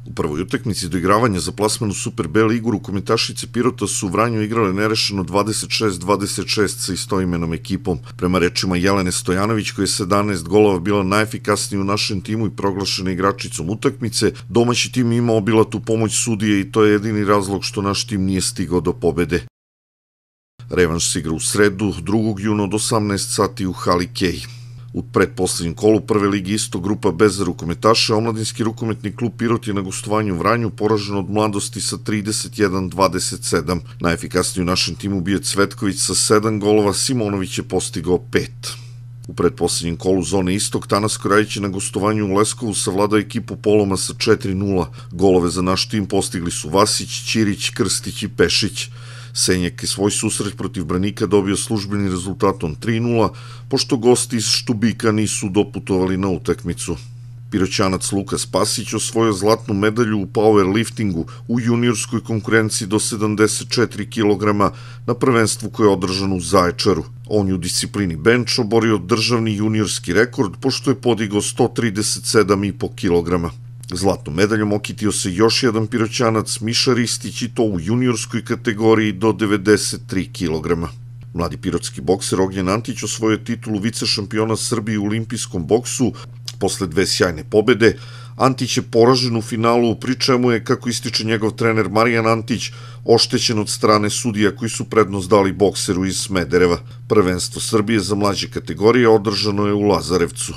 U prvoj utakmici doigravanja za plasman u Super B ligu rukometašice Pirota su u Vranju igrale nerešeno 26-26 sa istoimenom ekipom. Prema rečima Jelene Stojanović, koja je 17 golova bila najefikasnija u našem timu i proglašena igračicom utakmice, domaći tim imao obilatu pomoć sudije i to je jedini razlog što naš tim nije stigao do pobede. Revanš se igra u sredu, 2. juna od 18 sati u hali Kej. U pretposlednjem kolu prve ligi isto grupa bez rukometaša, omladinski rukometni klub Pirot je na gostovanju u Vranju poražen od Mladosti sa 31-27. Najefikasniji u našem timu bio Cvetković sa 7 golova, Simonović je postigao 5. U pretposlednjem kolu zone Istok, Tanas Korajić je na gostovanju u Leskovu savladao ekipu Poloma sa 4-0. Golove za naš tim postigli su Vasić, Ćirić, Krstić i Pešić. Senjak je svoj susret protiv Branika dobio službeni rezultatom 3-0, pošto gosti iz Štubika nisu doputovali na utakmicu. Piroćanac Luka Spasić osvojio zlatnu medalju u powerliftingu u juniorskoj konkurenciji do 74 kg na prvenstvu koje je održano u Zaječaru. On je u disciplini bench oborio državni juniorski rekord, pošto je podigao 137,5 kg. Zlatnom medaljom okitio se još jedan Piroćanac, Miša Ristić, i to u juniorskoj kategoriji do 93 kg. Mladi pirotski bokser Ognjen Antić osvojio titulu vice šampiona Srbije u olimpijskom boksu posle 2 sjajne pobede. Antić je poražen u finalu, pri čemu je, kako ističe njegov trener Marijan Antić, oštećen od strane sudija koji su prednost dali bokseru iz Smedereva. Prvenstvo Srbije za mlađe kategorije održano je u Lazarevcu.